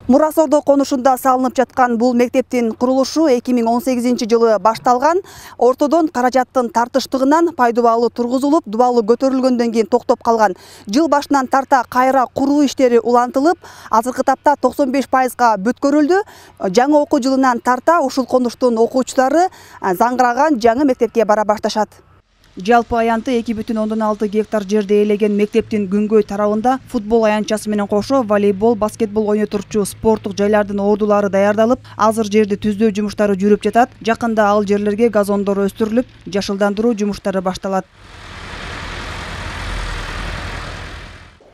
Мурас Ордо конушунда салынып жаткан бул мектептин курулушу 2018-жылы башталган. Ортодон каражаттын тартыштыгынан пайдубалы тургузулуп, дубалы көтөрүлгөндөн кийин токтоп калган. Жыл башынан тарта кайра куруу иштери улантылып, азыркы тапта 95%га бүткөрүлдү. Жаңы окуу жылынан тарта ушул конуштун окуучулары заңгыраган жаңы мектепке бара башташат. Жалпы аянты 2,6 гектар жерде ээлеген мектептин күнгөй тарабында футбол аянтчасы менен кошо волейбол, баскетбол ойнотурчу спорттук жайлардын ордулары даярдалып, азыр жерди түздөө жумуштары жүрүп жатат. Жакында ал жерлерге газондор өстүрүлүп, жашылдандыруу жумуштары башталат.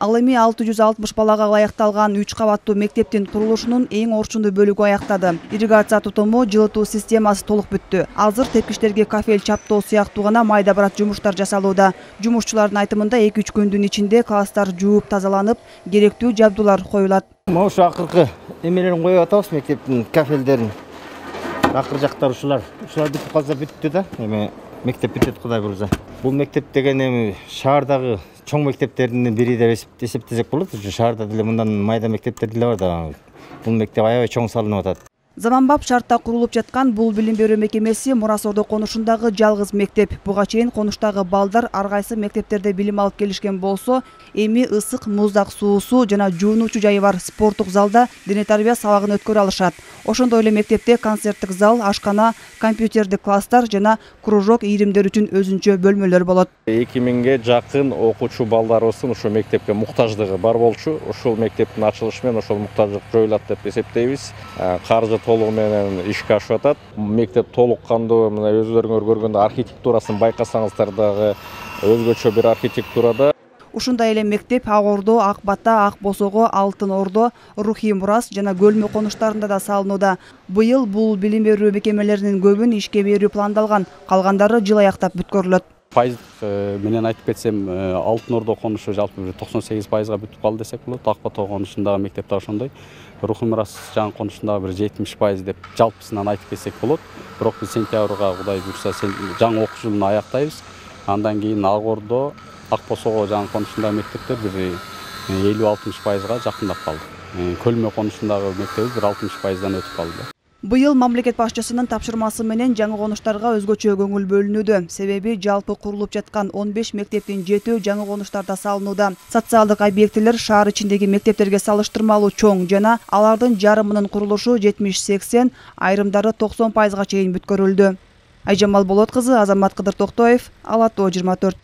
Ал эми 660 балага ылайыкталган 3 кабаттуу мектептин курулушунун эң орчундуу бөлүгү аяктады. Ирригация тутуму, жылытуу системасы толук бүттү. Азыр тепкичтерге кафел чаптоо сыяктуу гана майда барат жумуштар жасалууда. Жумушчулардын айтымында 2-3 күндүн ичинде класстар жууп тазаланып, керектүү жабдуулар коюлат. Ошо акыркы эмелерин коюп атабыз, мектептин кафелдерин. Акыр жактар ушулар бүтүп калса бүттү да. Эми мектеп бүтөт Кудай буйрса. Бул мектеп деген эми шаардагы чоң мектептердин бири деп эсептесек болот. Шаарда деле мындан майда мектептер деле бар да. Бул мектеп аябай чоң салынып атат. Заманбап шартта курулуп жаткан бул билим берүү мекемеси Мурас Ордо конушундагы жалгыз мектеп. Буга чейин конуштагы балдар ар кайсы мектептерде билим алып келишкен болсо, эми ысык муздак суусу жана жуунуучу жайы бар спорттук залда дене тарбия сабагын өткөрө алышат. Ошондой эле мектепте концерттик зал, ашкана, компьютердик класстар жана кружок ийримдер үчүн өзүнчө бөлмөлөр болот. 2000ге жакын окуучу балдарыбыздын ушул мектепке муктаждыгы бар болчу. Ушул мектептин ачылышы менен ошол муктаждык жоюлат деп эсептейбиз. Каржы толугу менен ишке ашып атат. Мектеп толук кандуу, мына өзүлөрүңөр көргөндө архитектурасын байкасаңыздар дагы өзгөчө бир архитектурада. Ушундай эле мектеп Ак Ордо, Ак Бата, Ак Босого, Алтын Ордо, Рухий Мурас жана Көлмө конуштарында да салынууда. Быйыл бул билим берүү мекемелеринин көбүн ишке берүү пландалган, калгандары жыл аяктап бүткөрүлөт. Пайыздык менен айтып кетсем, Алтын Ордо конушу жалпы 98%га бүтүп калды десек болот. Ак Бата конушундагы мектеп да ошондой. Рухий Мурас жаңы конушундагы бир 70% деп жалпысынан айтып кетсек болот. Бирок биз сентябрга Кудай буйрса жаңы окуу жылын аяктайбыз. Андан кийин Ак Ордо, Ак Босого жаңы конушундагы мектептер бир 50-60%га жакындап калды. Көлмө конушундагы мектебиз бир 60%дан өтүп калды. Быйыл мамлекет башчысынын тапшырмасы менен жаңы конуштарга өзгөчө көңүл бөлүнүүдө. Себеби жалпы курулуп жаткан 15 мектептин 7 жаңы конуштарда салынууда. Социалдык объектилер шаар ичиндеги мектептерге салыштырмалуу чоң жана алардын жарымынын курулушу 70-80, айрымдары 90%га чейин бүткөрүлдү. Айжамал Болот кызы, Азамат Кыдыр Токтоев, Ала Тоо 24.